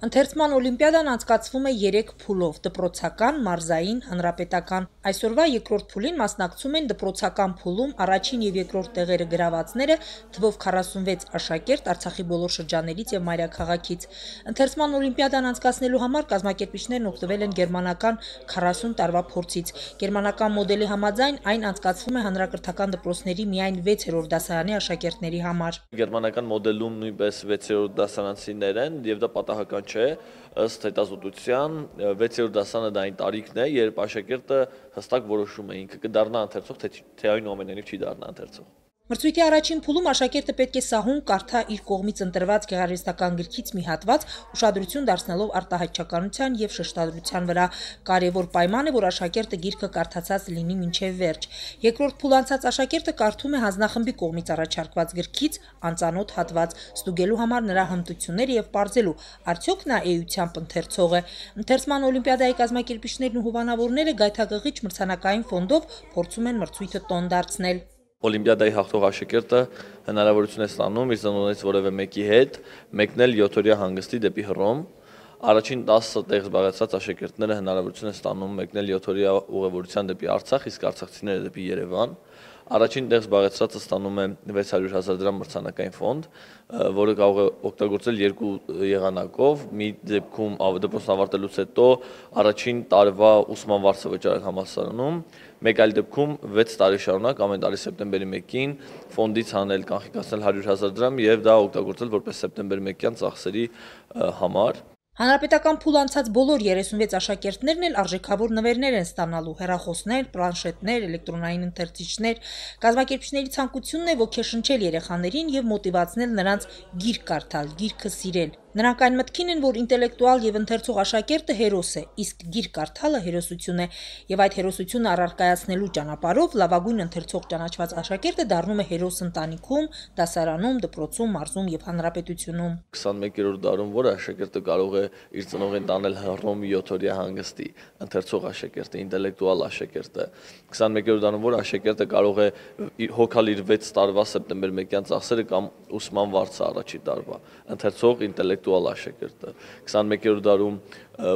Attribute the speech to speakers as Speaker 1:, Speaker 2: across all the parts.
Speaker 1: Ընթերցման օլիմպիադան անցկացվում է 3 փուլով՝ դպրոցական, մարզային, հանրապետական։ Այսօրվա երկրորդ փուլին մասնակցում են դպրոցական փուլում առաջին և երկրորդ տեղերը գրավածները թվով 46 աշակերտ Արցախի բոլոր շրջաններից և մայրաքաղաքից։ Ընթերցման օլիմպիադան անցկացնելու համար կազմակերպիչներն օգտվել են գերմանական 40 տարվա փորձից։ Գերմանական մոդելի համաձայն այն անցկացվում է հանրակրթական դպրոցների միայն 6-րդ դասարանի աշակերտների համար։
Speaker 2: Գերմանական մոդելում նույնպես 6-րդ դասարանցիներ են եւ դա պատահական չէ, ըստ հետազոտության 6-րդ դասարանը դա այն տարիքն է, երբ աշակերտը հստակ որոշում է ինքը կդառնա ընթերցող, թե այնուամենայնիվ չի դառնա ընթերցող։
Speaker 1: Մրցույթի առաջին փուլում աշակերտը պետք է սահուն կարդա իր կողմից ընտրված գեղարվեստական գրքից մի հատված, ուշադրություն դարձնելով արտահայտչականության և շեշտադրության վրա։ Կարևոր պայման է, որ աշակերտը գիրքը կարդացած լինի մինչև վերջ։ Երկրորդ փուլ անցած աշակերտը կարդում է հանձնախմբի կողմից առաջարկված գրքից անծանոթ հատված, ստուգելու համար նրա հմտությունները և պարզելու, արդյոք նա էությամբ ընթերցող է։ Ընթերցման օլիմպիադայի կազմակերպիչներն ու հովանավորները գայթակղիչ մրցանակային ֆոնդով փորձում են մրցույթը տոն դարձնել։
Speaker 2: Օլիմպիադայի հաղթող աշակերտը հնարավորություն է ստանում իր ծնողներից որևէ մեկի հետ մեկնել 7-օրյա հանգստի դեպի Հռոմ։ Առաջին 10 տեղ զբաղեցրած աշակերտները հնարավորություն են ստանում մեկնել 7-օրյա ուղևորության դեպի Արցախ, իսկ արցախցիները դեպի Երևան։ Առաջին տեղ զբաղեցրածը ստանում է 600,000 դրամ մրցանակային ֆոնդ, որը կարող է օգտագործել երկու եղանակով։ Մի դեպքում դպրոցն ավարտելուց հետո առաջին տարվա ուսման վարձը վճարել համալսարանում, մեկ այլ դեպքում 6 տարի շարունակ ամեն տարի սեպտեմբերի 1-ին ֆոնդից հանել կանխիկացնել 100,000 դրամ եւ դա օգտագործել որպես սեպտեմբերի 1-յան ծախսերի համար։
Speaker 1: Հանրապետական փուլ անցած բոլոր 36 աշակերտներն էլ արժեքավոր նվերներ են ստանալու՝ հեռախոսներ, պլանշետներ, էլեկտրոնային ընթերցիչներ։ Կազմակերպիչների ցանկությունն է ոգեշնչել երեխաներին եւ մոտիվացնել նրանց գիրք կարդալ, գիրքը սիրել։ Նրանք այն մտքին են, որ ինտելեկտուալ եւ ընթերցող աշակերտը հերոս է, իսկ գիրք կարդալը հերոսություն է, եւ այդ հերոսությունը առարկայացնելու ճանապարհով լավագույն ընթերցող ճանաչված աշակերտը դառնում է հերոս ընտանիքում, դասարանում, դպրոցում, մարզում եւ հանրապետությունում։
Speaker 2: 21-րդ դարում որ աշակերտը կարող է իր ծնողին տանել Հռոմ 7-օրյա հանգստի, ընթերցող աշակերտը, ինտելեկտուալ աշակերտը։ 21-րդ դարում որ աշակերտը կարող է հոգալ իր 6 տարվա սեպտեմբեր 1-յան ծախսերը կամ ուսման վարձը առաջի տարվա, ընթերցող ինտելեկտուալ աշակերտը։ 21-րդ դարում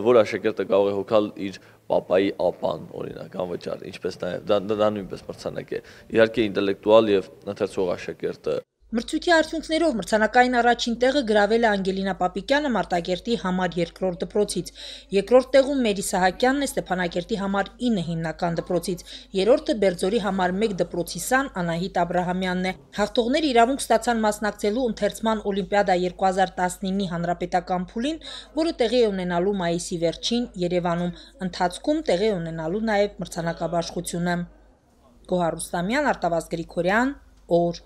Speaker 2: որ աշակերտը կարող է հոգալ իր պապայի ապան, օրինակ, անվճար, ինչպես նաև դա նույնպես մրցանակ է։ Իհարկե ինտելեկտուալ եւ ընթերցող աշակերտը։
Speaker 1: Մրցույթի արդյունքներով մրցանակային առաջին տեղը գրավել է Անգելինա Պապիկյանը Մարտակերտի համար 2-րդ դպրոցից, երկրորդ տեղում Մերի Սահակյանն է Ստեփանակերտի համար 9 հիմնական դպրոցից, երրորդը Բերձորի համար 1 դպրոցի սան Անահիտ Աբրահամյանն է։ Հաղթողները իրավունք ստացան մասնակցելու ընթերցման օլիմպիադա 2019-ի հանրապետական փուլին, որը տեղի է ունենալու մայիսի վերջին Երևանում, ընթացքում տեղի է ունենալու նաև մրցանակաբաշխությունը։ Գոհար Ռուստամյան, Արտավազդ Գրիգորյան, օր